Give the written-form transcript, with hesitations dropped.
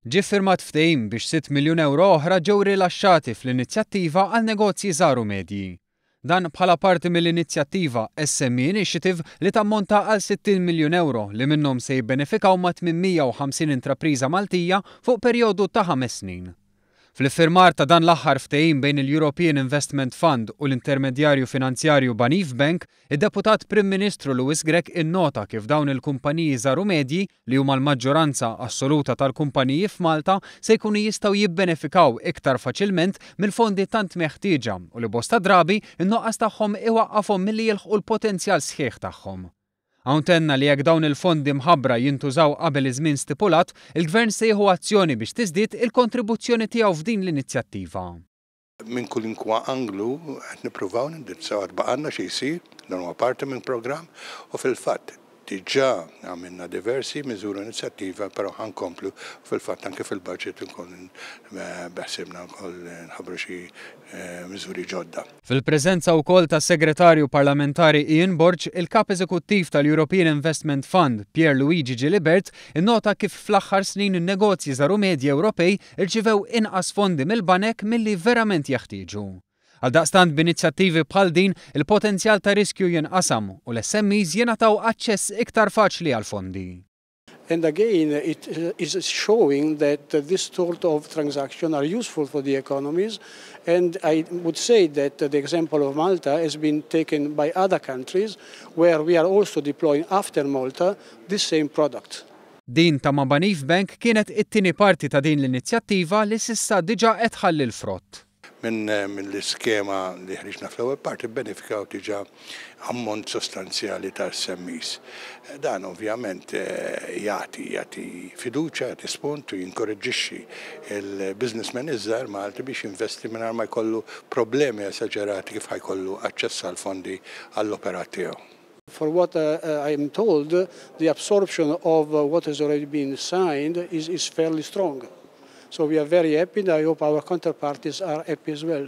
Ġie ffirmat ftehim biex €6 miljun oħra ġew rilaxxati fl-inizjattiva għal negozji żgħar u medji. Dan bħala parti mill-inizjattiva SME Initiative li tammonta għal €60 miljun li minnhom se jibbenefikaw ma' 850 intrapriża Maltija fuq perjodu ta' 5 snin. Fl-iffirmar ta' dan l-aħħar ftehim bejn il-European Investment Fund u l-intermedjarju finanzjarju Banif Bank, id-Deputat Prim Ministru Louis Grech innota kif dawn il-kumpaniji żgħar u medji, li huma l-maġġoranza assoluta tal-kumpaniji f'Malta, se jkunu jistgħu jibbenefikaw iktar faċilment mill-fondi tant meħtieġa u li bosta drabi in-nuqqas tagħhom iwaqqafhom milli jilħqu l-potenzjal sħiħ tagħhom. Hawn tenna li jekk dawn il-fondi mħabbra jintużaw qabel iż-żmien stipulat, il-Gvern se jieħu azzjoni biex tiżdied il-kontribuzzjoni tiegħu f'din l-inizjattiva. Minn kwalunkwe anglu qed nippruvaw nindirizzaw, għad baqgħalna xi jsir, dan huwa parti minn programm u fil-fatt diġà għamilna diversi miżuri, inizjattiva, però ħa nkomplu. Fil-fatt anke fil-budget nkun beħsiebna wkoll nħabbru xi miżuri ġodda. Fil-preżenza wkoll tas-Segretarju Parlamentari Ian Borg, il-Kap Eżekuttiv tal-European Investment Fund, Pier Luigi Gilibert, innota kif fl-aħħar snin in-negozji żgħar u medji Ewropej irċivew inqas fondi mill-banek milli verament jeħtieġu. Għaldaqstant, b'inizjattivi bħal din, il-potenzjal ta' riskju jinqasam u l-SMEs jingħataw aċċess iktar faċli għal fondi. And again, it is showing that this sort of transaction are useful for the economies. And I would say that the example of Malta has been taken by other countries where we are also deploying after Malta this same product. Din ta' ma' Banif Bank kienet it-tieni parti ta' din l-inizjattiva li s'issa diġà qed tħalli l-frott. Minn l-iskema li ħriġna fl-ewwel parti benefikaw diġà ammont sostanzjali ta' SMEs. Dan ovvjament jagħti fiduċja, jagħti spunt u jinkoraġġixxi il-businessman iż-żgħar Malti biex jinvesti mingħajr ma jkollu problemi esaġerati kif ħa jkollu aċċess għal fondi għall-operat tiegħu. For what I am told, the absorption of what has already been signed is fairly strong. So we are very happy and I hope our counterparties are happy as well.